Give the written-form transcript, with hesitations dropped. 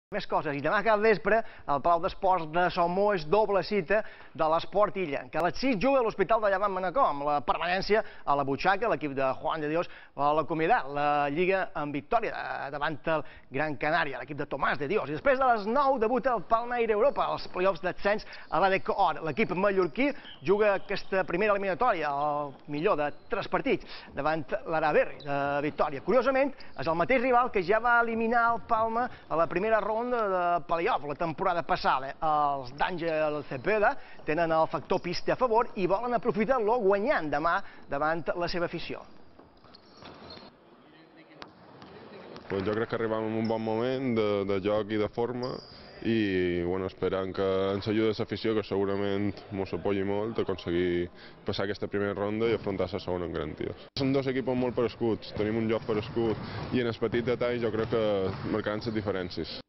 Més coses. I demà cap vespre al Palau d'Esports de Salmó és doble cita de l'Esport Illa, que a les 6 juga a l'Hospital de Llevant Manacor, amb la permanència a la butxaca, l'equip de Juan de Dios a la Comunidad, la Lliga en victòria davant el Gran Canària, l'equip de Tomàs de Dios. I després de les 9 debuta el Palmeira Europa, als play-offs d'ascens a l'ADEC Or. L'equip mallorquí juga aquesta primera eliminatòria, el millor de 3 partits, davant l'Araberri de Victòria. Curiosament, és el mateix rival que ja va eliminar el Palma a la primera ronda de play-off la temporada passada. Els d'Àngel Cepeda tenen el factor pista a favor i volen aprofitar-lo guanyant demà davant la seva afició. Jo crec que arribem en un bon moment de joc i de forma i esperant que ens ajudi l'afició, que segurament ens apoyi molt a aconseguir passar aquesta primera ronda i afrontar la segona amb garanties. Són dos equips molt per escuts, tenim un joc per escut i en els petits detalls jo crec que marcaran les diferències.